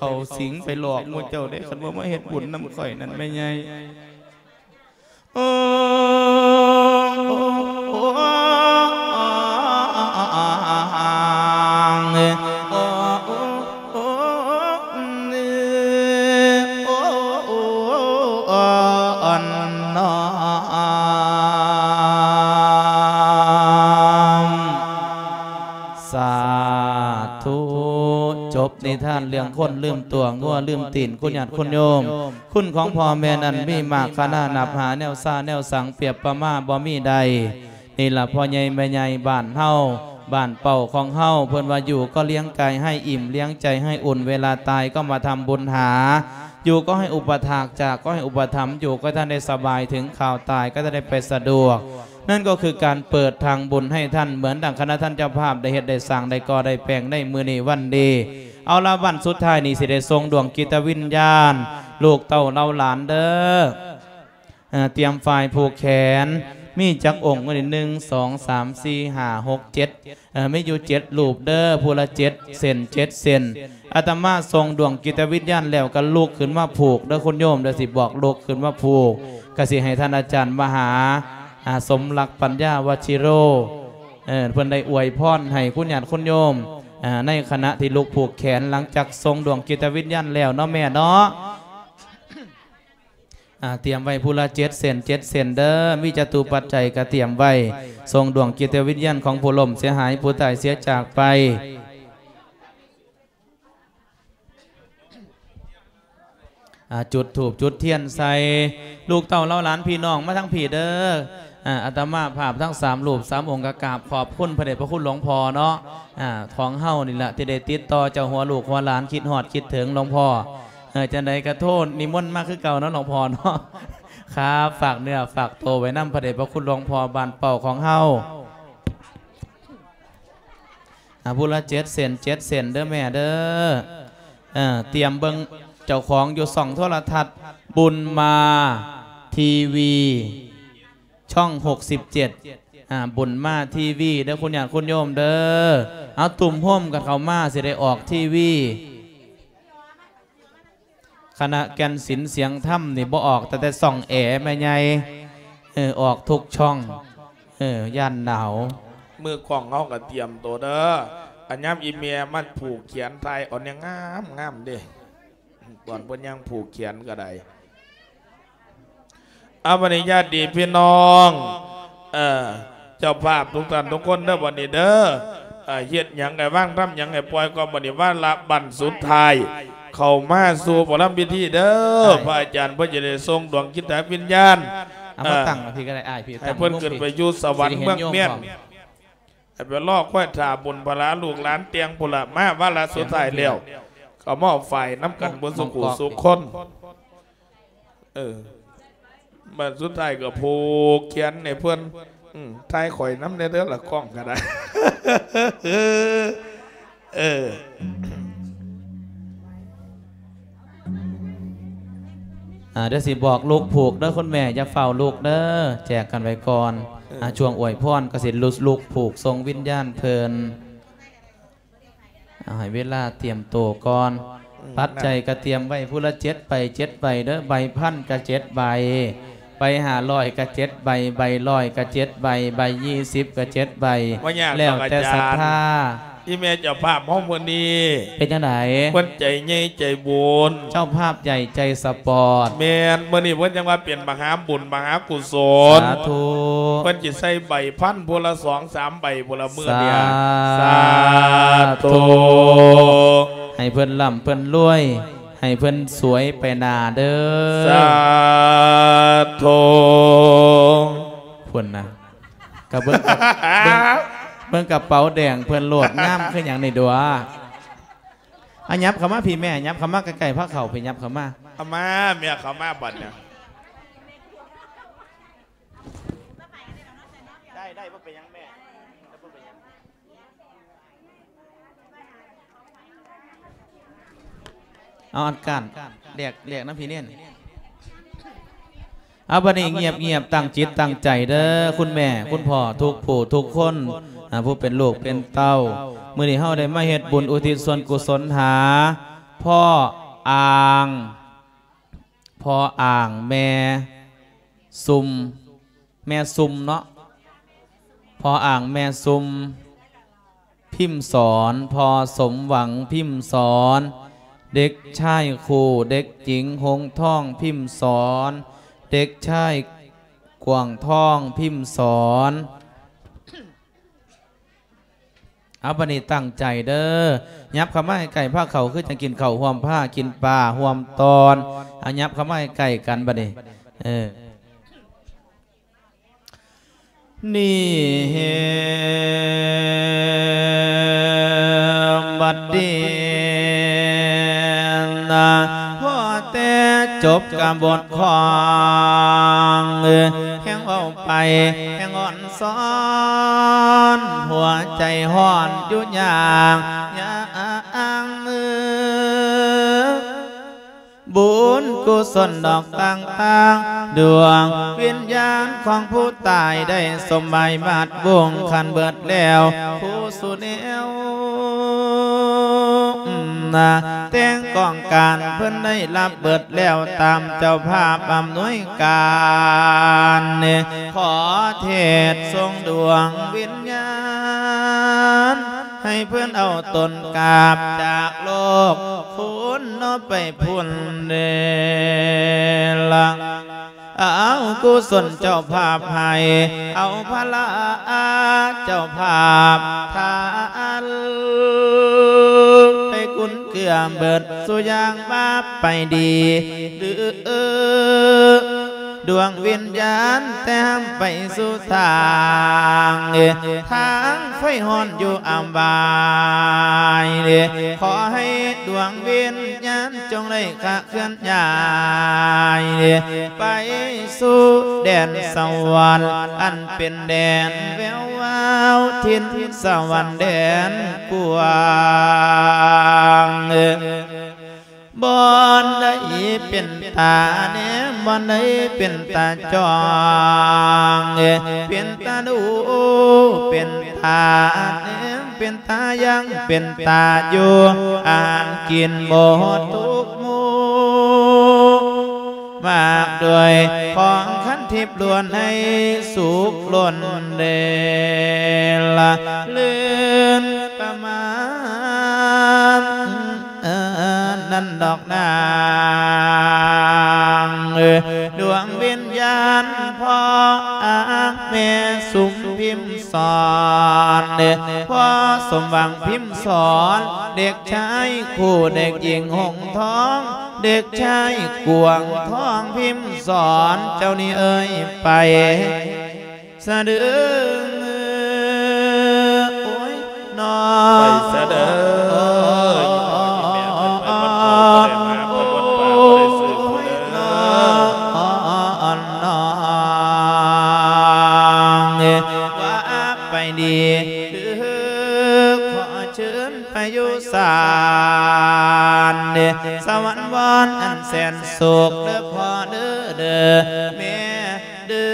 ເຂົ້າສິງໄປຫຼອກໝູ່ເຈົ້າເດ້ ຄັນບໍ່ມາເຮັດບຸນນຳຂ້ອຍນັ້ນແມ່ໃຫຍ່. ສາທຸ. ຈົບນິທານເລື່ອງຄົນລືມຕົວ ງົວລືມຕີນ ຄຸນຍາດຄຸນໂຍມ. ຄຸນຂອງພໍ່ແມ່ນັ້ນມີມາກຄະນານັບຫາ ແນວຊາແນວສັງປຽບປະມາບໍ່ມີໃດ. ນີ້ລະພໍ່ໃຫຍ່ແມ່ໃຫຍ່ບ້ານເຮົາ ບ້ານເປົ້າຂອງເຮົາ ເພິ່ນວ່າຢູ່ກໍລ້ຽງກາຍໃຫ້ອີ່ມ ລ້ຽງໃຈໃຫ້ອຸ່ນ ເວລາຕາຍກໍມາທຳບຸນຫາ ຢູ່ກໍໃຫ້ອຸປະຖາກ ຈາກກໍໃຫ້ອຸປະຖຳ ຢູ່ກໍໃຫ້ທ່ານໄດ້ສະບາຍ ເຖິງຂ່າວຕາຍກໍຈະໄດ້ໄປສະດວກ. ນັ້ນກໍຄືການເປີດທາງບຸນໃຫ້ທ່ານ ເໝືອນດັ່ງຄະນະທ່ານເຈົ້າພາບໄດ້ເຮັດໄດ້ສ້າງ ໄດ້ກໍ່ໄດ້ແປງໃນມື້ນີ້ວັນນີ້. ເອົາລະ ວັນສຸດທ້າຍນີ້ຊິໄດ້ສົ່ງດວງຈິດຕະວິນຍານ ລູກເຕົ້າເຫຼົ່າຫຼານເດີ້. ເອີ ຕຽມຝ້າຍຜູກແຂນ ມີຈັກອົງ? ມື້ນີ້ ໜຶ່ງ ສອງ ສາມ ສີ່ ຫ້າ ຫົກ ເຈັດ ເອີ ມີຢູ່ເຈັດຮູບເດີ້ ຜູ້ລະເຈັດເສັ້ນ ເຈັດເສັ້ນ. ອາດຕະມາສົ່ງດວງຈິດຕະວິນຍານແລ້ວກໍລຸກຂຶ້ນມາຜູກເດີ້ ຄຸນໂຍມເດີ້ ຊິບອກລຸກຂຶ້ນມາຜູກ ກໍຊິໃຫ້ທ່ານອາຈານມະຫາ ອາ ສົມລັກປັນຍາ ວັດຊິໂຣ ເອີ ເພິ່ນໄດ້ອວຍພອນໃຫ້ຄຸນຍາດຄຸນໂຍມ ອາ ໃນຂະນະທີ່ລຸກຜູກແຂນ ຫຼັງຈາກສົ່ງດວງຈິດຕະວິນຍານແລ້ວເນາະແມ່ເນາະ. ອາ ຕຽມໄວ້ຜູ້ລະເຈັດເສັ້ນ ເຈັດເສັ້ນເດີ້ ມີຈະຕຸປັດໄຈກໍຕຽມໄວ້ ສົ່ງດວງຈິດຕະວິນຍານຂອງຜູ້ລົ້ມເສຍຫາຍ ຜູ້ຕາຍເສຍຈາກໄປ. ອາ ຈຸດທູບຈຸດທຽນໃສ່ ລູກເຕົ້າເຫຼົ່າຫຼານພີ່ນ້ອງມາທາງພີ້ເດີ້. ອາ ອາດຕະມາພາບທັງສາມຮູບສາມອົງກໍກາບຂອບຄຸນພະເດດພະຄຸນຫຼວງພໍ່ເນາະ ອາ ຂອງເຮົານີ້ລະ ທີ່ໄດ້ຕິດຕໍ່ເຈົ້າຫົວລູກຫົວຫຼານ ຄິດຮອດຄິດເຖິງຫຼວງພໍ່. ເອີ ຈັ່ງໃດກໍໂທດນິມົນມາຄືເກົ່າເນາະ ຫຼວງພໍ່ເນາະ. ຄາ ຝາກເນື້ອຝາກໂຕໄວ້ນຳພະເດດພະຄຸນຫຼວງພໍ່ບ້ານເປົ້າຂອງເຮົາ. ອາ ຜູ້ລະເຈັດເສັ້ນ ເຈັດເສັ້ນເດີ້ແມ່ເດີ້. ເອີ ຕຽມເບິ່ງເຈົ້າຂອງຢູ່ຊ່ອງໂທລະທັດບຸນມາທີວີ ຊ່ອງຫົກສິບເຈັດ ອາ ບຸນມາທີວີເດີ້ ຄຸນຍາດຄຸນໂຍມເດີ້. ເອົາ ຕຸ້ມໂຮມກັນເຂົ້າມາ ຊິໄດ້ອອກທີວີ. ຄະນະແກ່ນສິນສຽງທຳນີ້ບໍ່ອອກແຕ່ ແຕ່ຊ່ອງແອແມ່ໃຫຍ່ ເອີ ອອກທຸກຊ່ອງ ເອີ ຢ້ານໜາວ. ມືກ້ອງເຮົາກໍຕຽມໂຕເດີ້ ອັນຍາມອີ່ແມ່ມາຜູກແຂນ ຖ່າຍເອົາແນວງາມໆເດ້ ຕອນເພິ່ນຍ່າງຜູກແຂນກໍໄດ້. ເອົາ ບັດນີ້ຍາດພີ່ນ້ອງ ເອີ ເຈົ້າພາບທຸກທ່ານທຸກຄົນເດີ ບັດນີ້ເດີ ເອີ ເຮັດຫຍັງໃຫ້ວາງ ທຳຫຍັງໃຫ້ປ່ອຍ ກໍບັດນີ້ວາລະບັ້ນສຸດທ້າຍ ເຂົ້າມາສູ່ໝໍລຳພິທີເດີ. ອ້າຍ ພະອາຈານເພິ່ນຈະໄດ້ສົ່ງດວງຈິດຕະວິນຍານ ເອົາມາ ເອີ ຕັ້ງພີ້ກໍໄດ້ ອ້າຍ ພີ້ ໃຫ້ເພິ່ນຂຶ້ນໄປຢູ່ສະຫວັນເມືອງແມ່ນ ໃຫ້ໄປລໍຄອຍຖ້າບຸນພະລາ ລູກຫຼານແຕ່ງພຸ້ນລະ ມາວາລະສຸດທ້າຍແລ້ວ ກໍມາຝ້າຍນຳກັນເບິດສູ່ຜູ້ສູ່ຄົນ. ເອີ ບັດສຸດທ້າຍກໍຜູກແຂນໃຫ້ເພິ່ນ. ອືມ ຖ່າຍຂ້ອຍນຳແດ່ເດີລະ ກ້ອງກໍໄດ້. ເອີ ອ່າ ດຽວຊິບອກລຸກຜູກເດີ ຄຸນແມ່ ຢ່າຟ້າວລຸກເດີ ແຈກກັນໄວ້ກ່ອນ. ເອີ ອ່າ ຊ່ວງອວຍພອນກໍຊິລຸກຜູກສົ່ງວິນຍານເພິ່ນ. ເອົາ ໃຫ້ເວລາຕຽມໂຕກ່ອນ. ອືມ ປັດໄຈກໍຕຽມໄວ້ຜູ້ລະເຈັດໃບ ເຈັດໃບເດີ ໃບພັນກໍເຈັດໃບ ໃບຫ້າຮ້ອຍກໍເຈັດໃບ ໃບຮ້ອຍກໍເຈັດໃບ ໃບຍີ່ສິບກໍເຈັດໃບ ບໍ່ຍາກດອກ ແລ້ວແຕ່ສັດທາ. ອາຈານ ອີ່ແມ່ເຈົ້າພາບເຮົາມື້ນີ້ ເປັນຈັ່ງໃດ? ເພິ່ນໃຈໃຫຍ່ໃຈບຸນ ເຈົ້າພາບໃຫຍ່ໃຈສະປອດ. ແມ່ນ ມື້ນີ້ເພິ່ນຈັ່ງວ່າເປັນມະຫາບຸນມະຫາກຸສົນ. ສາທຸ. ເພິ່ນຊິໃສ່ໃບພັນຜູ້ລະສອງສາມໃບ ຜູ້ລະມື້ນີ້. ສາທຸ. ສາທຸ. ໃຫ້ເພິ່ນລ່ຳເພິ່ນລວຍ ໃຫ້ເພິ່ນສວຍໄປໜ້າເດີ. ສາທຸ. ພຸ້ນນະ ກະເບິ່ງ ເບິ່ງ ເບິ່ງກະເປົາແດງເພິ່ນໂລດ ງາມຄືຫຍັງນີ້ດວະ. ອາ ຫຍັບເຂົ້າມາພີ້ແມ່ ຫຍັບເຂົ້າມາໃກ້ໆ ພາເຂົ້າພີ້ ຫຍັບເຂົ້າມາ. ເອົາມາ ແມ່ເຂົ້າມາບັດນີ້. ໄດ້ ໄດ້ ບໍ່ເປັນຫຍັງແມ່ ບໍ່ເປັນຫຍັງ. ເອົາອັນກ້ານ ແລກ ແລກນຳພີ່ເນນ. ເອົາ ບັດນີ້ງຽບໆ ຕັ້ງຈິດຕັ້ງໃຈເດີ ຄຸນແມ່ ຄຸນພໍ່ ທຸກຜູ້ທຸກຄົນ ອາ ຜູ້ເປັນລູກເປັນເຕົ້າ. ມື້ນີ້ເຮົາໄດ້ມາເຮັດບຸນອຸທິດສ່ວນກຸສົນຫາ ພໍອ່າງ ພໍອ່າງແມ່ຊຸ່ມ ແມ່ຊຸ່ມເນາະ ພໍອ່າງແມ່ຊຸ່ມ ພິມສອນ ພໍສົມຫວັງ ພິມສອນ ເດັກຊາຍຄູ່ ເດັກຍິງຫົງທອງ ພິມສອນ ເດັກຊາຍກວາງທອງ ພິມສອນ. ເອົາ ບັດນີ້ຕັ້ງໃຈເດີ ຫຍັບເຂົ້າມາໃກ້ໆ ພາເຂົ້າຄືຈັ່ງກິນເຂົ້າຮ່ວມ ພາກິນປາຮ່ວມຕອນ ເອົາ ຫຍັບເຂົ້າມາໃກ້ໆ ກັນບັດນີ້ ເອີ. ນີ້ເຮ ບັດນີ້ນະ ພໍແຕ່ຈົບກະບົດຂອງ ແຮງເວົ້າໄປແຮງອ່ອນຊອນ ຫົວໃຈຮ້ອນຢູ່ຢ່າງ ຢ່າງ ບຸນກຸສົນດອກຕ່າງໆ ດວງວິນຍານຂອງຜູ້ຕາຍໄດ້ສົມໝາຍມາດວົງຄັນເບິດແລ້ວ ຄູ່ສູ່ແນວນາ ແຕ່ງກອງການເພິ່ນໄດ້ຮັບເບິດແລ້ວ ຕາມເຈົ້າພາບອຳນວຍການ ຂໍເທດສົ່ງດວງວິນຍານ ໃຫ້ເພິ່ນເອົາຕົນກາບຈາກໂລກ ພຸ້ນເນາະໄປພຸ້ນເດລະ ເອົາກຸສົນເຈົ້າພາບໃຫ້ ເອົາພະລາເຈົ້າພາບທານ ໄດ້ກຸນເກື້ອເບິດສູ່ຢ່າງວ່າໄປດີ ຫຼື ດວງວິນຍານແຕ່ໄປສູ່ທາງ ທາງໄຟຮ້ອນຢູ່ອຳບາຍ ຂໍໃຫ້ດວງວິນຍານຈົ່ງໄດ້ຄະເຄື່ອນຍ້າຍ ໄປສູ່ແດນສະຫວັນ ອັນເປັນແດນແວວວາວ ຖິ່ນສະຫວັນແດນກວ້າງ ບ່ອນໃດເປັນຕາແນມ ບ່ອນໃດເປັນຕາຈ້ອງ ເປັນຕາດູ ເປັນຕາແນມ ເປັນຕາຍ່າງ ເປັນຕາຢູ່ ອານກິນໝົດທຸກໝູ່ ມາກດ້ວຍຂອງຄັນທິບລ້ວນໃຫ້ສຸກລົ້ນເດລະ ລື່ນປະມານ ເອີ ນັ້ນດອກນາງ ເອີ ດວງວິນຍານພໍ່ອາແມ່ຊຸມພິມສອນ ພໍ່ສົມຫວັງພິມສອນ ເດັກຊາຍຄູ່ເດັກຍິງຫົງທອງ ເດັກຊາຍກວາງທອງພິມສອນ ເຈົ້ານີ້ເອີຍ ໄປ ສະເດີ ໂອ້ຍ ນ້ອງ ໄປສະເດີ ອີ່ພໍ່ອີ່ແມ່ເພິ່ນໄປວັດເຂົາບໍ່ໄດ້ມາ ເພິ່ນວັດປ່າບໍ່ໄດ້ຊື້ຜູ້ເດີ ນ້ອງ ວ່າໄປດີເດີ ຂໍເຊີນໄປຢູ່ສານ ສະຫວັນວອນອັນແສນສຸກເດີພໍ່ເດີ ເດີແມ່ ເດີ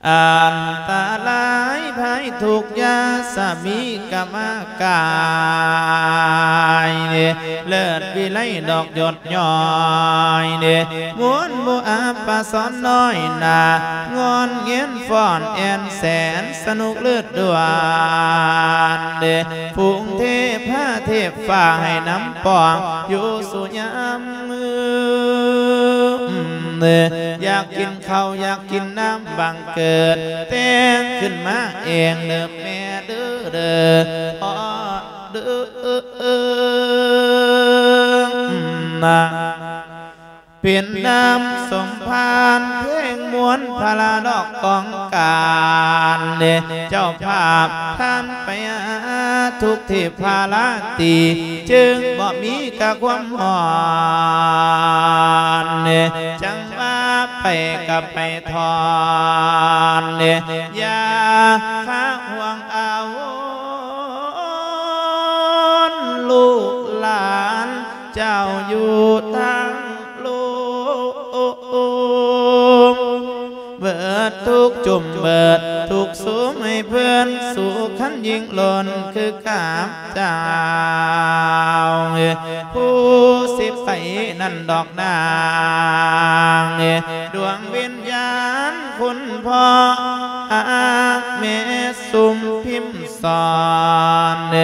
ອັນຕະລາຍໄພທຸກຢ່າສະມີກະມາກາຍ ເລີດວິໄລດອກຢົດຍ້ອຍ ມ່ວນບໍ່ອາບປະສອນນ້ອຍໜ້າ ງອນເງນຟ້ອນແອນແສນ ສະໜຸກເລີດດວນ ເດ ຝູງເທພາເທພຟ້າໃຫ້ນຳປ້ອງ ຢູ່ສູ່ຍາມມື້ ຢາກກິນເຂົ້າຢາກກິນນ້ຳບັງເກີດ ແຕ່ງຂຶ້ນມາເອງເດີແມ່ເດີ ເດີພໍ່ເດີ ນາ ເປັນນ້ຳສົມພານເພງມ່ວນພາລາດອກກອງການ ເຈົ້າພາບທ່ານໄປຫາທຸກທີ່ພາລາຕີ ຈຶ່ງບໍ່ມີກະຄວາມຮ້ອນ ຈັ່ງວ່າໄປກະໄປທ່ອນ ຢ່າຄາຫ່ວງອາວົນ ລູກຫຼານ ເຈົ້າຢູ່ທາງໂລກ ເບິດທຸກຈຸ່ມເບິດທຸກສຸມໃຫ້ເພິ່ນສຸກຄັນ ຍິ່ງລົ້ນຄືກັບເຈົ້າ ຜູ້ຊິໄປນັ້ນດອກນາງ ດວງວິນຍານຄຸນພໍ່ ຫາແມ່ສຸມພິມສອນ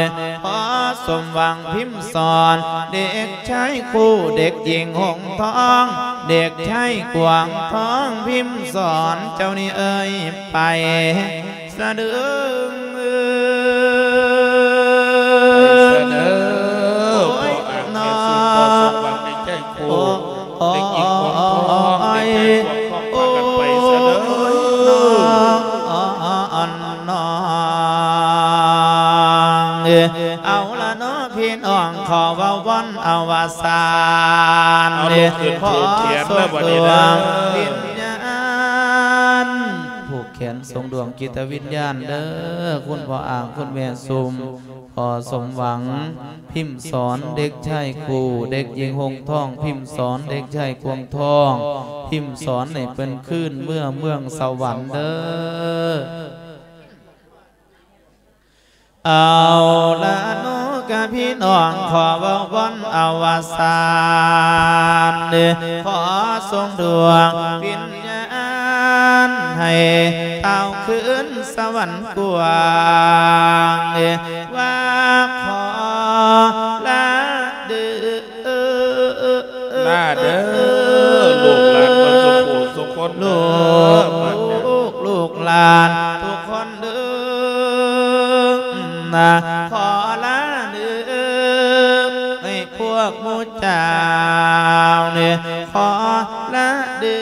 ຂໍສົມຫວັງພິມສອນ ເດັກຊາຍຄູ່ ເດັກຍິງຫົງທອງ ເດັກຊາຍກວາງທອງ ພິມສອນເຈົ້ານີ້ເອີຍ ໄປສະເດີ ໄປສະເດີ ພໍ່ອາກແມ່ສຸມ ພໍ່ສົມຫວັງ ເດັກຊາຍຄູ່ ເດັກຍິງຫົງທອງ ເດັກຊາຍກວາງທອງ ພາກັນໄປສະເດີ ນ້ອງ ເອົາລະເນາະ ພີ່ນ້ອງ ຂໍເວົ້າວອນອະວະສານ ເອົາລູກຂຶ້ນ ຂໍ ຜູກແຂນເດີ ບັດນີ້ເດີ ສົ່ງດວງວິນຍານ ຜູກແຂນສົ່ງດວງຈິດຕະວິນຍານເດີ ຄຸນພໍ່ອາງ ຄຸນແມ່ສຸມ ພໍ່ສົມຫວັງ ພິມສອນເດັກຊາຍຄູ່ ເດັກຍິງຫົງທອງ ພິມສອນເດັກຊາຍກວາງທອງ ພິມສອນໃຫ້ເພິ່ນຄືນເມືອເມືອງສະຫວັນເດີ. ເອົາລະເນາະ ກະພີ່ນ້ອງ ຂໍເວົ້າວອນອະວະສານ ຂໍສົ່ງດວງວິນຍານໃຫ້ທ້າວຄືນສະຫວັນກວ້າງ ວ່າຂໍລາເດີ ລາເດີ ລູກຫຼານເບິດສູ່ຜູ້ສູ່ຄົນເດີ ລູກ ລູກຫຼານທຸກຄົນເດີ ຂໍລາເດີ ໃຫ້ພວກໝູ່ເຈົ້ານີ້ ຂໍລາເດີ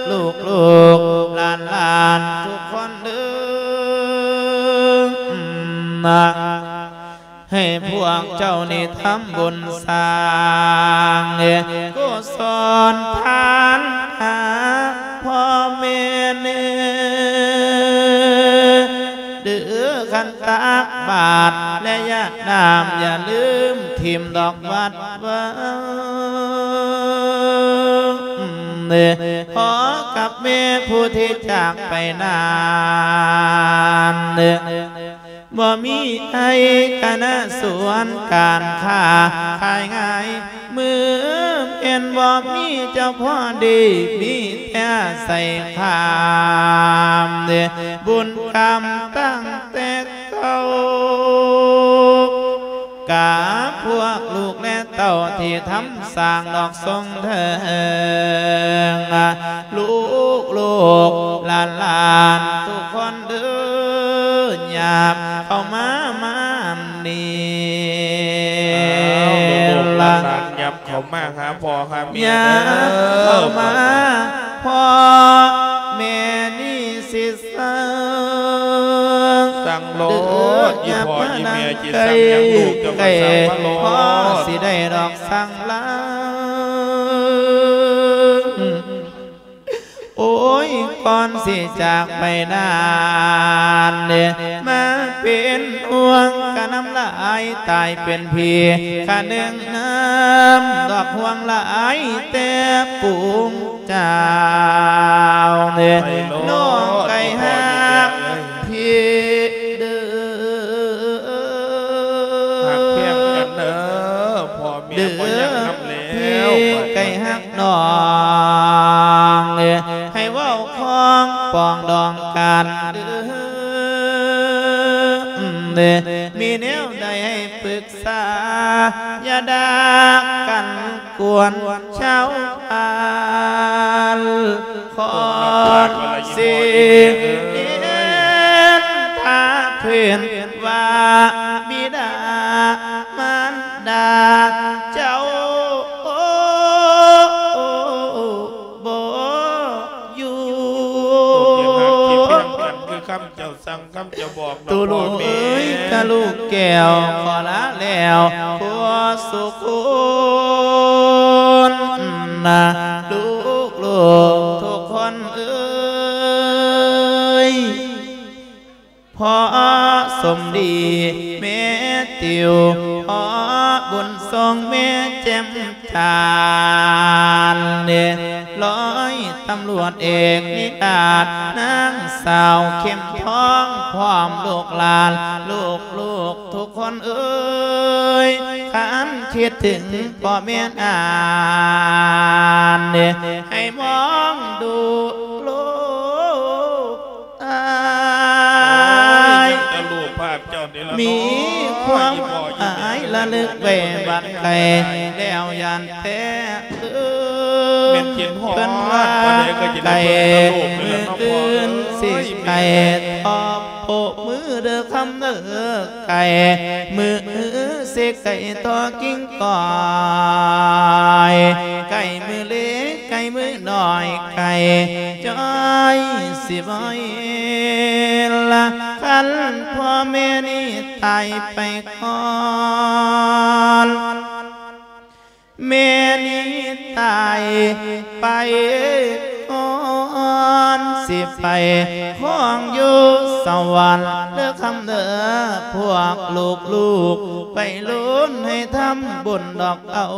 ລູກ ລູກຫຼານ ຫຼານທຸກຄົນເດີ ໃຫ້ພວກເຈົ້ານີ້ທຳບຸນສ້າງກຸສົນທານຫາພໍ່ແມ່ແນ່ເດີ ຄັນຕັກບາດ ແລະ ຢາດນ້ຳ ຢ່າລືມຖິ້ມດອກວັດວາ ພໍ່ກັບແມ່ຜູ້ທີ່ຈາກໄປນານ ບໍ່ມີໄອກະນະສວນການຄ້າຂາຍງ່າຍ ມື້ແມ່ນບໍ່ມີເຈົ້າພໍ່ດີ ມີແຕ່ອາໄສຄາມ ບຸນກຳຕັ້ງແຕ່ເກົ່າ ກາພວກລູກແລະເຕົ້າທີ່ທຳສ້າງດອກສົງເທີງ ລູກໆຫຼານໆທຸກຄົນເດີ ຫຍັບເຂົ້າມາມານີ້ ອ້າວ ລູກໆຫຼານໆ ຫຍັບເຂົ້າມາຫາພໍ່ຫາແມ່ ຫຍັບເຂົ້າມາ ເດີ ພໍ່ແມ່ນີ້ຊິ ສັ່ງ ສັ່ງໂລດ ອີ່ພໍ່ອີ່ແມ່ ຊິສັ່ງຫຍັງລູກ ເຈົ້າກະສັ່ງມາໂລດ ພໍ່ຊິໄດ້ດອກສັ່ງລາ ໂອ້ຍ ກ່ອນຊິຈາກໄປນານ ມາເປັນຫ່ວງກະນຳລາຍ ຕາຍເປັນຜີຂະໜຶ່ງນຳ ດອກຫ່ວງຫຼາຍແຕ່ປຸງ ເຈົ້າເດີ ໄປໂລດ ນ້ອງໄກ່ຮັກພີ່ເດີ ຮັກແພງກັນເດີ ພໍ່ແມ່ບໍ່ຢາກນຳແລ້ວ ພີ່ໄກ່ຮັກນ້ອງເດີ ໃຫ້ເວົ້າຂອງປອງດອງກັນເດີ ເດີ ມີແນວໃດໃຫ້ປຶກສາ ຢ່າດາກັນກວນຊາວບ້ານ ຂໍສິເນນທາເພິ່ນວ່າບິດາມານດາເຈົ້າບໍ່ຢູ່ ທີ່ຮັກທີ່ແພງກັນຄືຄຳເຈົ້າ ສັ່ງຄຳຈະບອກ ຕູລູກເອີຍ ກະລູກແກ້ວ ຂໍລາແລ້ວ ຜູ້ສຸຄົນນະ ລູກໆທຸກຄົນເອີຍ ພໍ່ສົມດີ ແມ່ຕິວ ພໍ່ບຸນສົ່ງ ແມ່ແຈ່ມຈັນ ຮ້ອຍຕຳຫຼ ດເອກນິລາດ ນາງສາວເຂັມທອງ ພ້ອມລູກຫຼານ ລູກໆທຸກຄົນເອີຍ ຄັນຄິດເຖິງພໍ່ແມ່ນອານ ໃຫ້ມອງດູລູກ ອາຍ ມີຄວາມອາຍລະລຶກໄວ້ບັດໄກ ແລ້ວຢ້ານແທ້ເອີຍ ເພິ່ນວ່າໄກ ມື້ອື່ນຊິໄກ ທອບໂປະມືເດີຄຳເດີ ໄກ ມື້ອື່ນຊິໄກ ຕໍ່ກິ່ງກ້ອຍ ໄກມື້ເລັກ ໄກມື້ນ້ອຍ ໄກຈ້ອຍ ຊິບໍ່ເຫັນລະ ຄັນພໍ່ແມ່ນີ້ຕາຍໄປກ່ອນ ແມ່ນີ້ຕາຍໄປກ່ອນ ຊິໄປຄອງຢູ່ສະຫວັນເດີຄຳເດີ ພວກລູກໆໄປລຸ້ນໃຫ້ທຳບຸນດອກເອົາ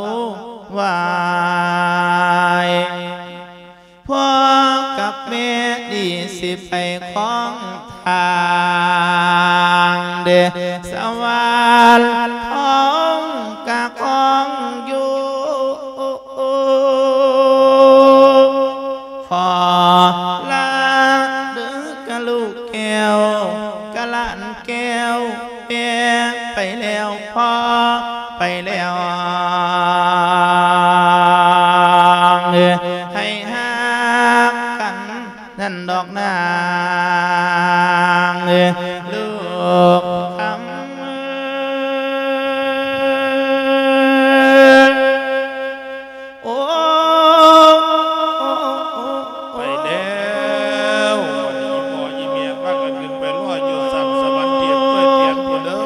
ໄວ້ ພໍ່ກັບແມ່ນີ້ຊິໄປຄອງທາງເດ ສະຫວັນທອງກະຄອງຢູ່ ຂໍລາເດີກະລູກແກ້ວ ກະຫຼານແກ້ວ ແມ່ໄປແລ້ວ ພໍ່ໄປແລ້ວ ໃຫ້ຮັກກັນນັ້ນດອກນາງ ລູກຄຳ ໂອ້ ໄປແລ້ວ ບັດນີ້ອີ່ພໍ່ອີ່ແມ່ພາກັນຂຶ້ນໄປລໍຢູ່ຊັ້ນສະຫວັນເທບເກີດທຽນພຸ້ນເດີ.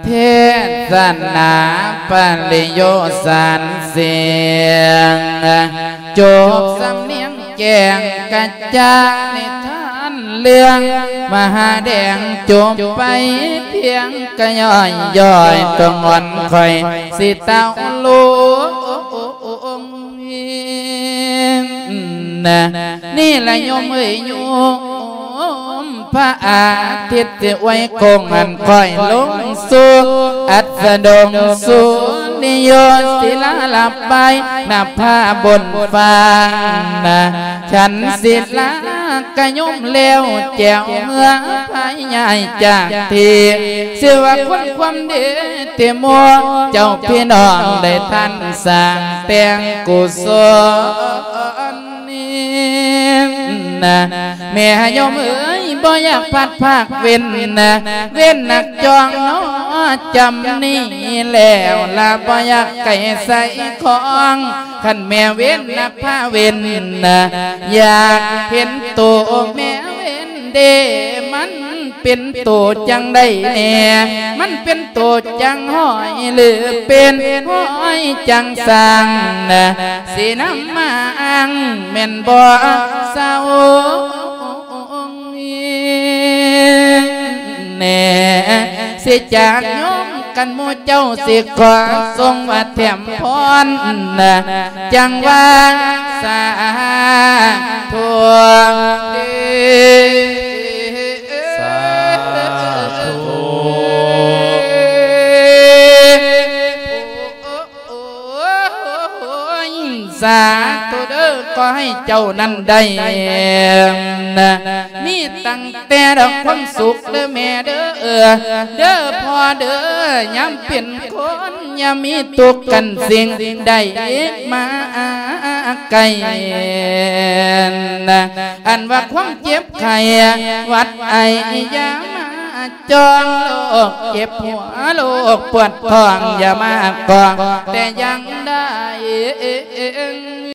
ເທດສະໜາປະລິໂຍສານສຽງ ຈົບສຳນຽງແຈ້ງກະຈ່າງນິທານເລື່ອງມະຫາແດງ ຈົບໄປພຽງກະຍ່ອຍໆ ຕົວງອນຂ້ອຍຊິເຕົ້າລົງ ນີ້ລະໂຍມເອີຍໂຍມ ພະອາທິດຊິອວຍໂຄ້ງຫັ້ນຄ່ອຍລົງສູ່ອັດສະດົງສຸລິໂຍ ສິລາລາບາຍນະພາບົນຟ້ານະ ສັນສິລາກະໂຍມແລ້ວແຈວເມືອພາຍຍ້າຍຈາກທີ່ ຊື່ວ່າຄົນຄວາມເດເຕໂມ ເຈົ້າພີ່ນ້ອງໄດ້ທັນສ້າງແຕ່ງກຸສົນ ນີ້ນະ ແມ່ໂຍມເອີຍ ບໍ່ຢາກພັດພາກເວັ້ນນະ ເວັ້ນໜັກຈ່ອງເນາະ ຈຳນີ້ແລ້ວລະ ບໍ່ຢາກໄກໃສ່ຂອງ ຄັນແມ່ເວັ້ນນະພາເວັ້ນນະ ຢາກເຫັນໂຕແມ່ເວັ້ນເດ ມັນ ເປັນໂຕຈັ່ງໃດແດ່ ມັນເປັນໂຕຈັ່ງຫ້ອຍ ຫຼືເປັນຫ້ອຍຈັ່ງສ້າງ ນະ ຊິນຳມາອ້າງແມ່ນບໍ່ສາວແດ່ ຊິຈາກໂຍມກັນໝູ່ເຈົ້າ ຊິຂໍສົ່ງວ່າແຖມພອນ ນະ ຈັ່ງວ່າສາທຸເດ. ສາທຸ ສາທຸເດີ ຂໍໃຫ້ເຈົ້ານັ້ນໄດ້ ມີຕັ້ງແຕ່ດອກຄວາມສຸກເດີແມ່ເດີ ເດີພໍ່ເດີ ຍາມເປັນຄົນຢ່າມີທຸກກັນສິ່ງໃດມາໄກ ອັນວ່າຄວາມເຈັບໄຂ້ຫວັດໄອຢ່າມາ ຈອງໂລກເຈັບຫົວ ໂລກປວດທ້ອງ ຢ່າມາຂວາງແຕ່ຢ່າງໃດ.